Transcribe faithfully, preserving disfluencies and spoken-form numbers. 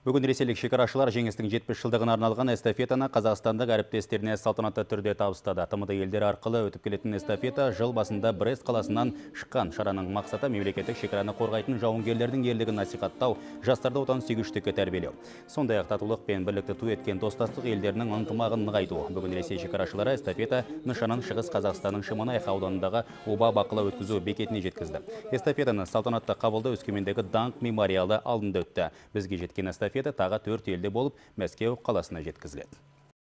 Бүгін ресейлік шекарашылар жеңістің жетпіс жылдығына арналған эстафетаны қазақстандық әріптестеріне салтанатты түрде табыстады. тмд елдері арқылы өтіп келетін эстафета жыл басында Брест қаласынан шыққан. Шараның мақсаты мемлекеттік шекараны қорғайтын жауынгерлердің ерлігін насихаттау, жастарды отансүйгіштікке тәрбиелеу. Сондай-ақ татулық пен бірлікті ту еткен достастық елдерінің ынтымағын нығайту. Бүгін Ресей шекарашылары эстафета нышанын Шығыс Қазақстанның Шемонаиха ауданындағы оба бақылау өткізу бекетіне жеткізді. Эстафетаны салтанатты қабылдау Өскемендегі Даңқ мемориалы алдында өтті. Бізге жеткен эстафета тағы төрт елде болып, Мәскеу қаласына жеткізіледі.